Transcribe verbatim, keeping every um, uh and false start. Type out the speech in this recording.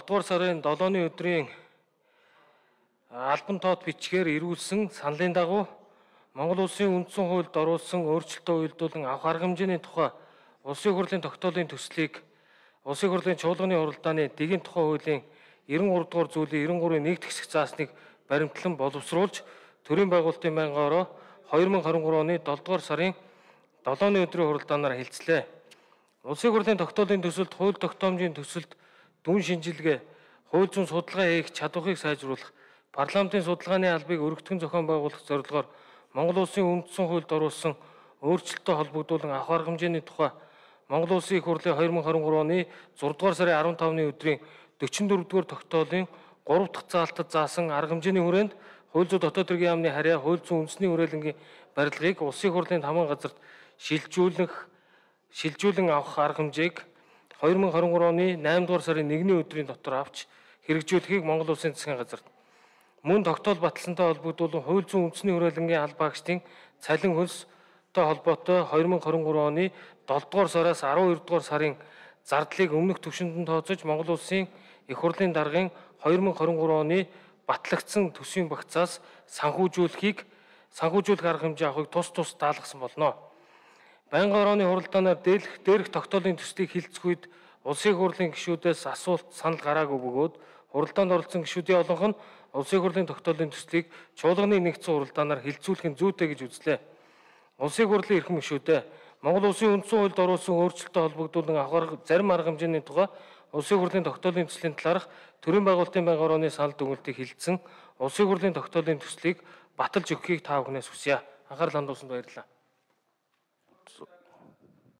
дугаар сарын долооны өдрийн албан тоот бичгээр ирүүлсэн саналын дагуу Монгол Улсын үндсэн хуульд оруулсан өөрчлөлтөө уялдуулан авах арга хэмжээний тухай Улсын хурлын тогтоолын төслийг Улсын хурлын чуулганы хуралдааны дэгийн тухай хуулийн девяносто гурав дугаар зүйлийн девяносто гурвын нэгд хэсэг заасныг баримтлан боловсруулж төрийн байгуулалтын байнгаараа две тысячи двадцать три оны долоо дугаар сарын долооны өдрийн хуралдаанаар хэлцлээ. Улсын хурлын тогтоолын төсөлд хууль тогтоомжийн төсөлд дүн шинжилгээ, хууль зүйн судалгаа хийх чадварыг сайжруулах, парламентын судалгааны албыг өргөтгөн зохион байгуулах зорилгоор Монгол Улсын үндсэн хуульд оруулсан өөрчлөлтөд холбогдуулан авах арга хэмжээний тухай Монгол Улсын их хурлын две тысячи двадцать три оны зургаадугаар сарын15-ны өдрийн forty-four дугаар тогтоолын three дахь заалтад заасан арга хэмжээний хүрээнд хууль зүйн дотоод хэргийн яамны харьяа хууль зүйн үндэсний хүрээлэнгийн барилгыг Улсын хурлын таман газарт шилжүүлэх шилжүүлэн авах арга хэмжээг twenty twenty-three оны eight дугаар сарын one-ний өдрийн дотор авч хэрэгжүүлэхийг Монгол Улсын засгийн газарт мөн тогтоол баталсантай холбогдуулан хууль зүйн үндэсний хүрээлэнгийн албаагчдын цалин хөлстэй холбоотой twenty twenty-three оны seven дугаар сараас twelve дугаар сарын зардлыг өмнөх түвшинд нь тооцож Монгол Улсын их хурлын даргын twenty twenty-three оны батлагдсан төсвийн багцаас санхүүжүүлэхийг санхүүжүүлэх арга хэмжээ авахыг тус тус даалгасан болно. Байнгын орооны хуралдаанаар дээрх дээрх тогтоолын төслийг хилцэх үед Улсын хурлын гишүүдээс асуулт санал гараагүй бөгөөд хуралдаанд оролцсон гишүүдийн олонх нь Улсын хурлын тогтоолын төслийг чуулганы нэгдсэн хуралдаанаар хилцүүлэх нь зүйтэй гэж үзлээ. Улсын хурлын эрхэм гишүүдээ Монгол Улсын үндсэн хуульд оруулсан өөрчлөлтөд холбогдуулан авах зарим арга хэмжээний тухай Улсын хурлын тогтоолын төслийн талаарх төрийн байгуулалтын байнгын орооны санал дүгнэлтийг хилцэн Улсын хурлын тогтоолын төслийг баталж өгөхийг та бүхнээс хүсье. Анхаарал хандуулсанд баярлалаа.